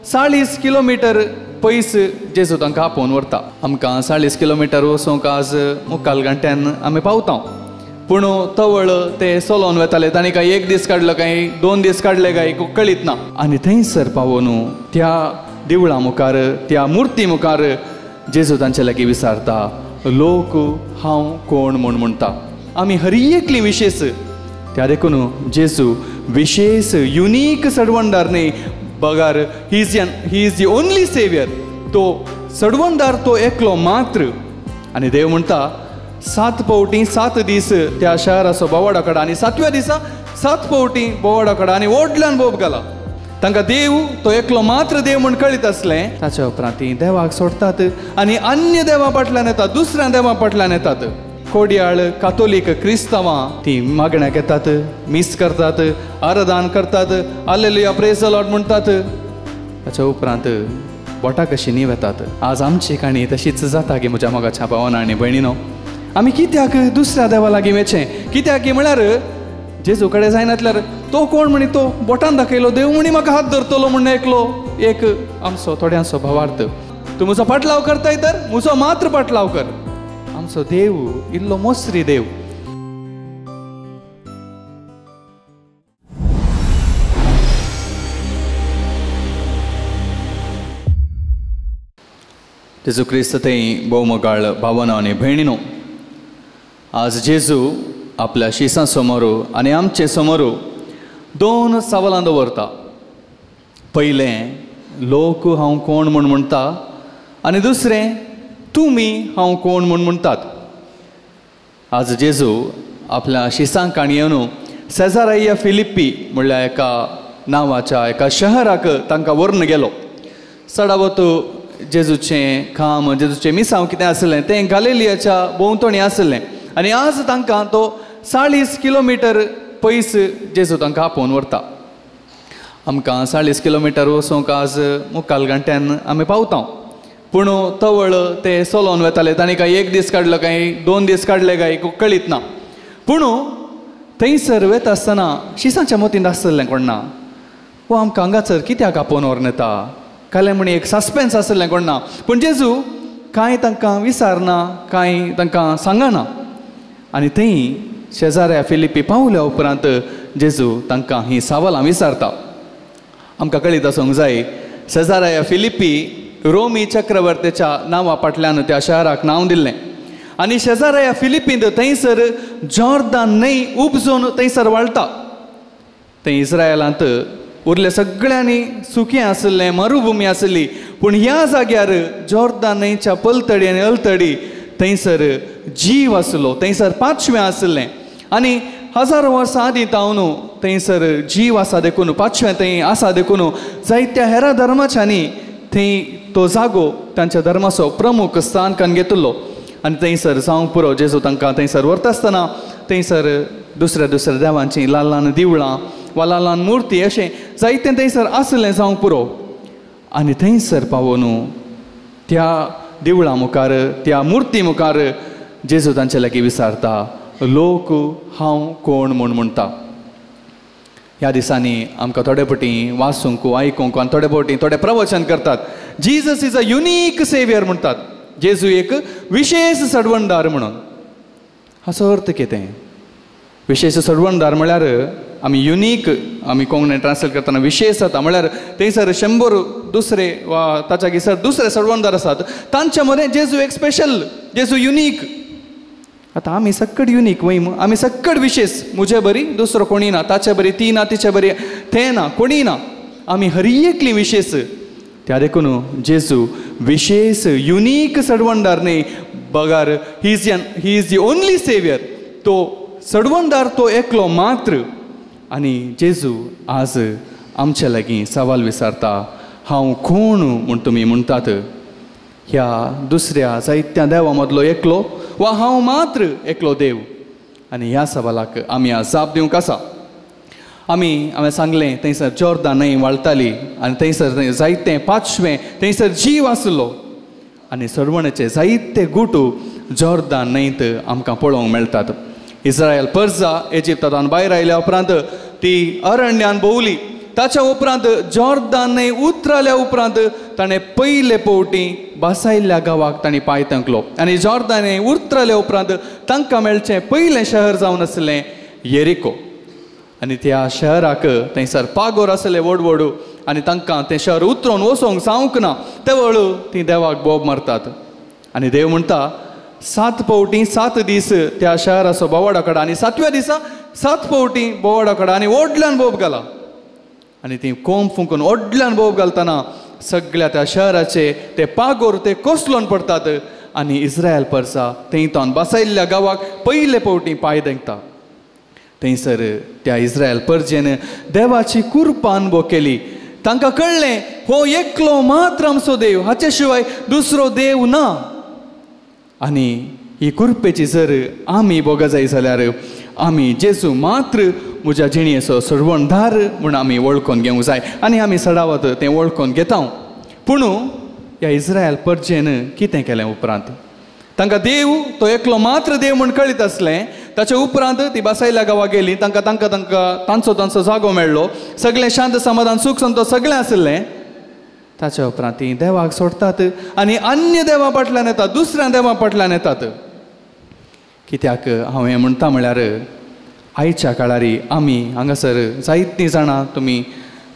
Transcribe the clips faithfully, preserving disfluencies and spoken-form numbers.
चाळीस किलोमिटर पयस जेजू तांकां आपोवन व्हरता. आमकां चाळीस किलोमिटर वचूंक आज मुखाल घंट्यान आमी पावता, पूण तवळ ते चलोवन वेताले. तांणी काय एक दीस काडलो काय दोन दीस काडले काय कळीत ना. आनी थंयसर पावोन त्या देवळा मुखार त्या मुर्ती मुखार जेजू तांचे लागीं विचारता, लोक हांव कोण म्हूण म्हणटा. आमी हर एकली विशेष, त्या देखून जेजू विशेष युनीक सडवणदार न्ही, बगार he is he is the only saviour. तो सडवणदार तो एकलो मात्र. आनी देव म्हणटा सात पावटी सात दीस त्या शहराचो बोवाडो काडा आनी सातव्या दिसा सात पावटी बोवाडो काडा आनी व्हडल्यान बोब घाला. तांकां देव तो एकलो मात्र देव म्हूण कळीत आसलें. ताच्या उपरांत ती देवाक सोडटात आनी अन्य देवा फाटल्यान येतात, दुसऱ्या देवा फाटल्यान येतात. कोडयाळ कातोलीक क्रिस्तांवां ती मागण्याक येतात, मीस करतात, आराधन करतात, आलेलुया प्रेज the Lord म्हणटात. ताच्या उपरांत बोटा कशी न्ही वेतात. आज आमची काणी तशीच जाता की म्हज्या मोगाच्या भावान आनी भयणीनो, आमी कित्याक दुसऱ्या देवा लागीं वचें? कित्याक म्हळ्यार जेजू कडेन जायनातल्यार तो कोण म्हणी तो बोटान दाखयलो देव म्हणी म्हाका हात धरतलो म्हण एकलो एक आमचो थोड्यांचो भावार्थ. तूं म्हजो पाटलाव करताय तर म्हजो मात्र पाटलाव कर. आमचो देव इल्लो मोसरी देव. जेजू क्रिस्त थंय भोवमोगाळ भावना आनी भयणीनो, आज जेजू आपल्या शिसां समोर आनी आमचे समोर दोन सवालां दवरता. पयलें, लोक हांव कोण म्हूण म्हणटा, आनी दुसरें, तुमी हांव कोण म्हूण म्हणटात. आज जेजू आपल्या शिसांक येवन सेजाराया फिलिप्पी म्हणल्यार एका नांवाच्या एका शहराक तांकां व्हरून गेलो. चडावत जेजूचें काम, जेजूचें मिसांव कितें आसलें तें गालिलियाच्या भोंवतणी आसलें. आनी आज तांकां तो चाळीस किलोमिटर पयस जेजू तांकां आपोवन व्हरता. आमकां चाळीस किलोमिटर वचूंक आज मुखाल घंट्यान आमी पावता, पूण तवळ ते चलोवन वेताले. तांणी काय एक दीस काडलो काय दोन दीस काडले काय कळीत ना, पूण थंयसर वेता आसतना शिसांच्या मतींत आसलें कोण ना, वो आमकां हांगासर कित्याक आपोवन व्हरून येता कालें म्हणी एक सस्पेन्स आसलें कोण ना. पूण जेजू कांय तांकां विचारना, कांय तांकां सांगना. आनी थंय शेजाऱ्या फिलिप्पी पावल्या उपरांत जेजू तांकां ही सवालां विचारता. आमकां कळीत आसूंक जाय, शेजाऱ्या फिलिप्पी रोमी चक्रवर्तीच्या नांवा फाटल्यान त्या शहराक नांव दिल्लें. आनी शेजाऱ्या फिलिप्पींत थंयसर जॉर्दान न्हंय उपजून थंयसर वाळटा. थंय इस्रायलांत उरले सगळ्यांनी सुकें आसलें, मरुभुमी आसली, पूण ह्या जाग्यार जॉर्दान न्हंयच्या पलतडी आनी अलतडी थंयसर जीव आसलो, थंयसर पांचवें आसलें. आनी हजारो वर्सां आदीं तावन थंयसर जीव आसा देखून, पांचवें थंय आसा देखून जायत्या हेरा धर्माच्यांनी थंय तो जागो तांच्या धर्माचो प्रमुख स्थान करून घेतिल्लो. आनी थंयसर जावंक पुरो जेजू तांकां थंयसर व्हरता आसतना थंयसर दुसऱ्या दुसऱ्या देवांचीं ल्हान ल्हान देवळां वा ल्हान ल्हान मुर्ती अशें जायतें थंयसर आसलें जावंक पुरो. आनी थंयसर पावोन त्या देवळा मुखार त्या मुर्ती मुखार जेजू तांचे लागीं विचारता, लोक हांव कोण म्हूण म्हणटा. ह्या दिसांनी आमकां थोडे फावटी वाचूंक आयकूंक आनी थोडे फावटी थोडे प्रवचन करतात, Jesus is a unique saviour म्हणटात, जेजू एक विशेष सडवणदार म्हणून. हाचो अर्थ कितें? विशेष सडवणदार म्हळ्यार आमी युनीक, आमी कोंकणी ट्रान्सलेट करतना विशेष जाता म्हळ्यार थंयसर शंबर दुसरे वा ताच्या गिसर दुसरे सडवणदार आसात, तांच्या मदें जेजू एक स्पेशल, जेजू युनीक. आतां आमी सक्कड युनीक वय, आमी सक्कड विशेष, म्हजे बरी दुसरो कोणी ना, ताचे बरी ती ना, तिचे बरी तें ना, कोणी ना, आमी हर एकली विशेष. त्या देखून जेजू विशेष युनीक सडवणदार न्ही, बगार he is he is the only saviour. तो सडवणदार तो एकलो मात्र. आनी जेजू आज आमचे लागीं सवाल विचारता, हांव कोण म्हूण तुमी म्हणटात? ह्या दुसऱ्या जायत्या देवा मदलो एकलो वा हांव मात्र एकलो देव? आनी ह्या सवालाक आमी आज जाप दिवंक आसा. आमी हांवें सांगलें थंयसर जॉर्दान न्हंय व्हाळटाली आनी थंयसर जायते पांचवें थंयसर जीव आसलो आनी सरवणेचे जायते गुटू जॉर्दान न्हंयत आमकां पळोवंक मेळटात. इस्रायल परजा इजिप्तांतल्यान भायर आयल्या उपरांत ती अरण्यान भोंवली ताच्या उपरांत जॉर्दान न्हंय उतरल्या उपरांत ताणें पयले पवटी बसायल्ल्या गांवाक तांणी पांय तेंकलो आनी जॉर्दान न्हंय उतरल्या उपरांत तांकां मेळचें पयलें शहर जावन आसलें येरिको. आनी त्या शहराक थंयसर पागोर आसले व्हड व्हड आनी तांकां तें शहर उतरोवन वचोंक जावंक ना. ते वळू तीं देवाक बोब मारतात आनी देव म्हणटा सात पावटी सात दीस त्या शहराचो बोवाडो काडा आनी सातव्या दिसा सात पावटी बोवाडो काडा आनी व्हडल्यान बोब घाला. आनी ती कोंब फुंकून व्हडल्यान बोब घालतना सगळ्या त्या शहराचे ते पागोर ते कोसलोन पडटात आनी इस्रायल परसा थंय तावन बसायल्ल्या गांवाक पयले पावटी पांय देंकता. थंयसर त्या इस्रायल परजेन देवाची कुरपा अनुभव केली. तांकां कळ्ळें हो एकलो मात्र आमचो देव, हाचे शिवाय दुसरो देव ना. आनी ही कुरपेची जर आमी भोगा जाय जाल्यार आमी जेजू मात्र म्हज्या जिणेचो सर्वणधार म्हूण आमी वळखून घेवंक जाय आनी आमी सडावत तें वळखून घेता. पूण ह्या इस्रायल परजेन कितें केलें उपरांत तांकां देव तो एकलो मात्र देव म्हूण कळीत आसलें. ताचे उपरांत ती बसायल्या गांवाक गेली, तांकां तांकां तांकां तांचो तांचो जागो मेळ्ळो, सगळें शांत समाधान सूख संतोष सगळें आसलें. ताच्या उपरांत ती देवाक सोडटात आनी अन्य देवा फाटल्यान येतात, दुसऱ्या देवा फाटल्यान येतात. कित्याक हांव हें म्हणटा म्हळ्यार आयच्या काळारी आमी हांगासर जायतीं जाणां, तुमी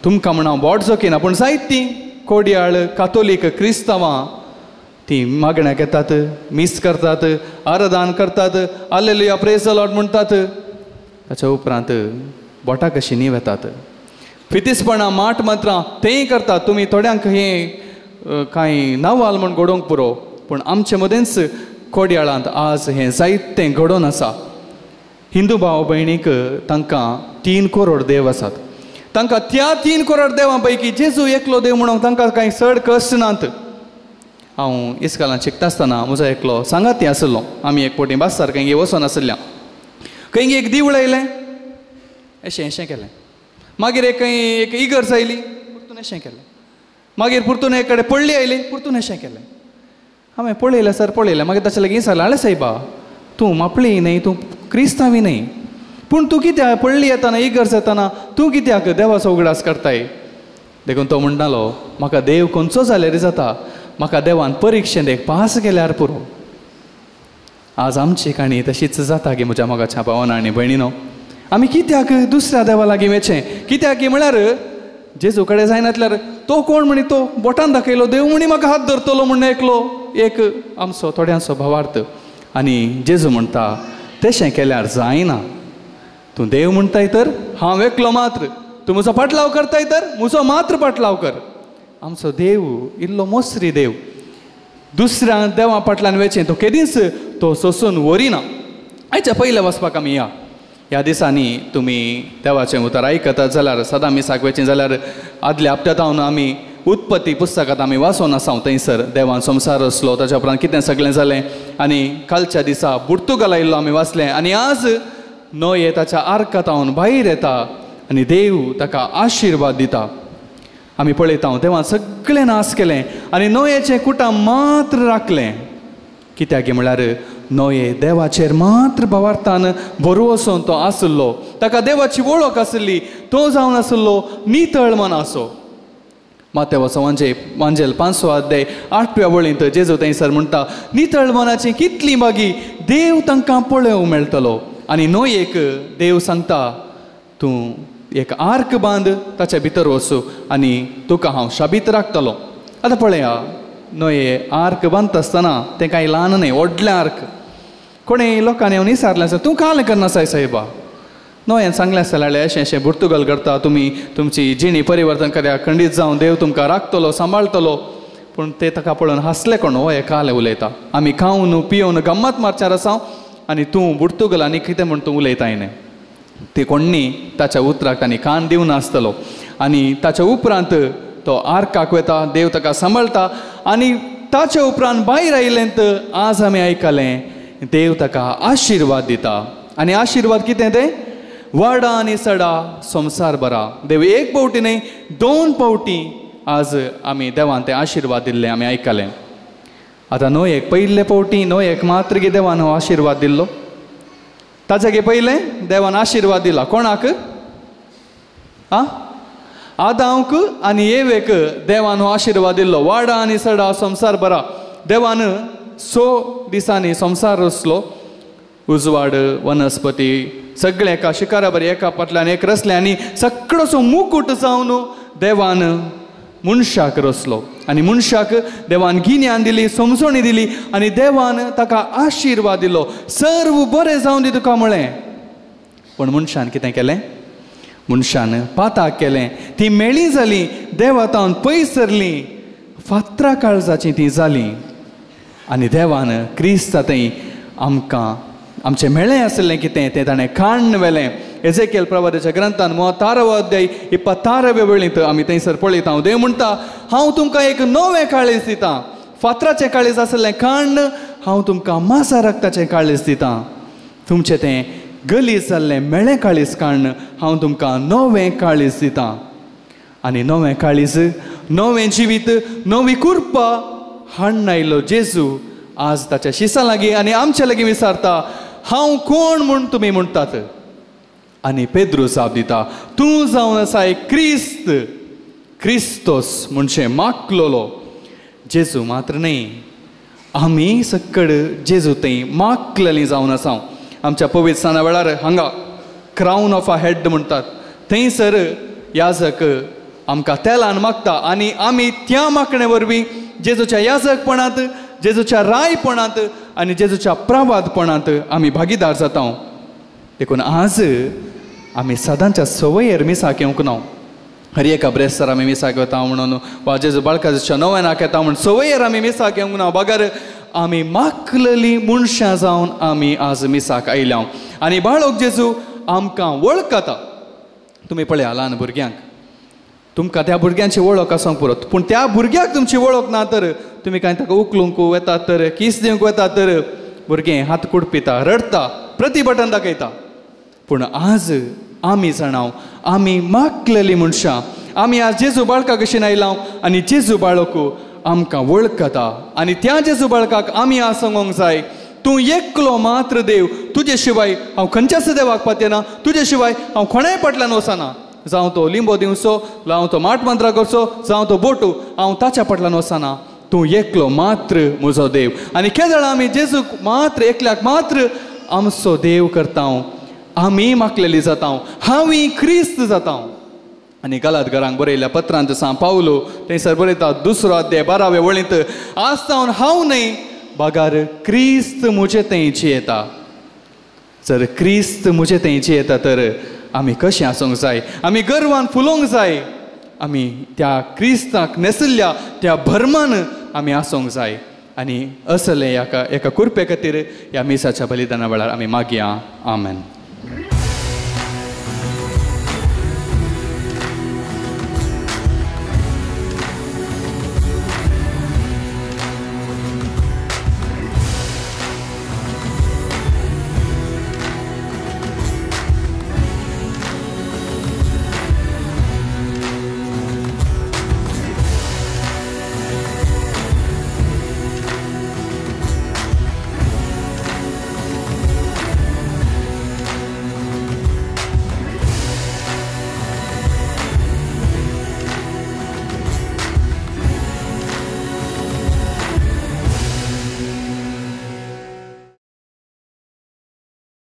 तुमकां म्हण हांव बोट जोखिना, पूण जायतीं कोडयाळ कातोलीक क्रिस्तांवां ती मागण्याक येतात, मीस करतात, आराधन करतात, आलेलुया प्रेज the Lord म्हणटात. ताच्या उपरांत बोटां कशीं न्ही वेतात, फितीसपणां माट मंत्रां तेंय करतात. तुमी थोड्यांक हें कांय नवाल म्हूण घडोवंक पुरो, पूण आमचे मदेंच कोडयाळांत आज हें जायतें घडोवन आसा. हिंदू भाव भयणीक तांकां तीन करोड देव आसात. तांकां त्या तीन करोड देवां पैकी जेजू एकलो देव म्हणून तांकां कांय चड कश्ट नात. हांव इस्कालान शिकता आसतना म्हजो एकलो सांगाती आसलो. आमी एक पोटी बाजार खंय वचोन आसल्या, खंय एक दिवळ आयलें अशें अशें केलें, मागीर एक खंय एक इगर्ज आयली परतून अशें केलें, मागीर परतून एक कडेन पडली आयली परतून अशें केलें. हांवें पळयलें सर पळयलें, मागीर ताचे लागीं विचारलें, आळे सायबा तूं मापळी न्हय, तूं क्रिस्तांवी न्हय, पूण तूं कित्याक पडली येतना इगर्ज येतना तूं कित्याक देवाचो उगडास करताय? देखून तो म्हणटालो म्हाका देव खंयचो जाल्यार जाता, म्हाका देवान परिक्षेंत एक पास केल्यार पुरो. आज आमची काणी तशीच जाता की म्हज्या मोगाच्या भावान आनी भयणीनो, आमी कित्याक दुसऱ्या देवा लागीं वचचें? कित्याक की म्हळ्यार जेजू कडेन जायनातल्यार तो कोण म्हणी तो बोटान दाखयलो देव म्हणी म्हाका हात धरतलो म्हण एकलो एक आमचो थोड्यांचो भावार्थ. आनी जेजू म्हणटा तशें केल्यार जायना, तूं देव म्हणटाय तर हांव एकलो मात्र, तूं म्हजो पाटलाव करताय तर म्हजो मात्र पाटलाव कर. आमचो देव इल्लो मोसरी देव, दुसऱ्या देवा फाटल्यान वचचें तो केदींच तो सोसून व्हरिना. आयच्या पयलें वचपाक आमी या ह्या दिसांनी तुमी देवाचें उतर आयकतात जाल्यार सदां मिसाक वचचें जाल्यार आदल्या हप्त्यांत आमी उत्पत्ती पुस्तकांत आमी वाचून आसा. थंयसर देवान संवसार आसलो, ताच्या उपरांत कितें सगळें जालें आनी कालच्या दिसा पुर्तुगाल आयिल्लो आमी वाचलें. आनी आज नोये ताच्या आर्कांत भायर येता आनी देव ताका आशिर्वाद दिता. आमी पळयता देवान सगळें नाश केलें आनी नोयेचें कुटां मात्र राखलें. कित्याक म्हळ्यार नोये देवाचेर मात्र भावार्थान बरो वचोन तो आसलो, ताका देवाची वळख आसली, तो जावन आसलो नितळ मनाचो. मातेवाचो वांजे वांजेल पांचसो अध्याय आठव्या वळींत जेजू थंयसर म्हणटा नितळ मनाची कितली मागी देव तांकां पळोवंक मेळटलो. आनी नोयेक देव सांगता तूं एक आर्क बांद, ताच्या भितर वचू आनी तुका हांव शाबीत राखतलो. आतां पळया नोये आर्क बांदता आसतना तें कांय ल्हान न्हय, व्हडलें आर्क. कोणें लोकांनी येवन विचारलें आसा तूं कालें करना साय सायबा? नोयेन सांगलें आसतलें जाल्यार अशें अशें पुर्तुगाल करता, तुमी तुमची जिणी परिवर्तन करया, खंडीत जावन देव तुमकां राखतलो सांबाळटलो. पूण ते ताका पळोवन हांसले, कोण हो कालें उलयता, आमी खावन पियोवन गम्मत मारच्यार आसा आनी तूं पुर्तुगाल आनी कितें म्हूण तूं उलयताय न्हय. ते कोण्णी ताच्या उतराक तांणी कान दिवन आसतलो. आनी ताच्या उपरांत तो आर्काक वता, देव ताका सांबाळटा आनी ताच्या उपरांत भायर आयलें तर आज आमी आयकलें देव ताका आशिर्वाद दिता. आनी आशिर्वाद कितें तें? वाडा आनी सडा संवसार बरा. देव एक पावटी न्हय दोन पावटी आज आमी देवान ते आशिर्वाद दिल्ले आमी आयकलें. आतां न्हय एक पयले पावटी न्हय एक मात्र गे देवान हो आशिर्वाद दिल्लो, ताच्या गे पयलें देवान आशिर्वाद दिला कोणाक? आं, आदांक आनी एवेक देवान हो आशिर्वाद दिल्लो, वाडा आनी सडा संवसार बरा. देवान स दिसांनी संवसार रचलो, उजवाड वनस्पती सगळें एका शिकारा बरी एका फाटल्यान एक रचलें आनी सगळोसो मुकूट जावन देवान मनशाक रचलो आनी मनशाक देवान गिन्यान दिली, समजणी दिली आनी देवान ताका आशिर्वाद दिलो, सर्व बरें जावन दी तुका म्हळें. पूण मनशान कितें केलें? मनशान पाताक केलें, ती मेळी जाली, देवा तावन पयस सरलीं, फातरा काळजाचीं तीं जालीं. आनी देवान क्रिस्ता थंय आमकां आमचें मेळें आसलें कितें तें ताणें काण्ण व्हेलें. एजेकेल प्रवादाच्या ग्रंथान मुवत्तारवो अध्याय इपत्तारव्या वेळींत आमी थंयसर पळयता. हांव देव म्हणटा, हांव तुमकां एक नवें काळीज दितां, फातराचें काळीज आसलें काण्ण हांव तुमकां मासा रक्ताचें काळीज दितां, तुमचें तें गलीज जाल्लें मेळें काळीज काण्ण हांव तुमकां नवें काळीज दितां. आनी नवें काळीज, नवें जिवीत, नवी कुरपा हाडून आयलो जेजू आज ताच्या शिसां लागीं आनी आमच्या लागीं विचारता, हांव कोण म्हूण तुमी म्हणटात? आनी पेद्रू जाप दिता, तूं जावन आसाय क्रिस्त, क्रिस्तोस म्हणजे माकलोलो. जेजू मात्र न्हय, आमी सकड जेजू थंय माकलेली जावन आसा. आमच्या पवित्र स्नाना वेळार हांगा क्रावन ऑफ अ हेड म्हणटात, थंयसर याजक आमकां तेलान मागता आनी आमी त्या मागणे वरवीं जेजूच्या याजकपणांत, जेजूच्या रायपणांत आनी जेजूच्या प्रवादपणांत आमी भागीदार जाता. देखून आज आमी सदांच्या संवयेर मिसाक येवंक ना. हर एका ब्रेस्तार आमी मिसाक वता म्हणून वा जेजू बाळकाच्या नव्यानाक येता म्हणून संवयेर आमी मिसाक येवंक ना, बगर आमी माकलेली मनशां जावन आमी आज मिसाक आयल्या. आनी बाळक जेजू आमकां वळखता. तुमी पळया ल्हान भुरग्यांक, तुमकां त्या भुरग्यांची वळख आसूंक पुरो, पूण त्या भुरग्याक तुमची वळख ना तर तुमी कांय ताका उखलूंक वेतात तर कीस दिवंक वेतात तर भुरगें हात कुडपिता, रडटा, प्रतिबटन दाखयता. पूण आज आमी जाणाव आमी माकलेली मनशां, आमी आज जेजू बाळका कशीन आयला आनी जेजू बाळक आमकां वळखता. आनी त्या जेजू बाळकाक आमी आज सांगूंक जाय, तूं एकलो मात्र देव, तुजे शिवाय हांव खंयच्याच देवाक पातयेना, तुजे शिवाय हांव कोणाय फाटल्यान वचना, जावं तो लिंबो दिवचो, जावं तो माट मंत्रा करचो, जावं तो बोटू, हांव ताच्या फाटल्यान वचना, तूं एकलो मात्र म्हजो देव. आनी केदळा आमी जेजूक मात्र एकल्याक मात्र आमचो देव करता, आमी माकलेली जाता, हांवी क्रिस्त जाता. आनी गलात घरांक बरयल्या पत्रांत सांव पावलो थंयसर बरयता दुसरो अध्याय बारावे वळींत, आज सावन हांव न्हय बगार क्रिस्त म्हजे थंय जियेता. जर क्रिस्त म्हजे थंय जियेता तर आमी कशें आसूंक जाय? आमी गर्वान फुलोवंक जाय, आमी त्या क्रिस्ताक नेसिल्ल्या त्या भरमान आमी आसूंक जाय. आनी असलें एका एका कुरपे खातीर ह्या मिसाच्या बलिदाना वेळार आमी मागया. आमेन.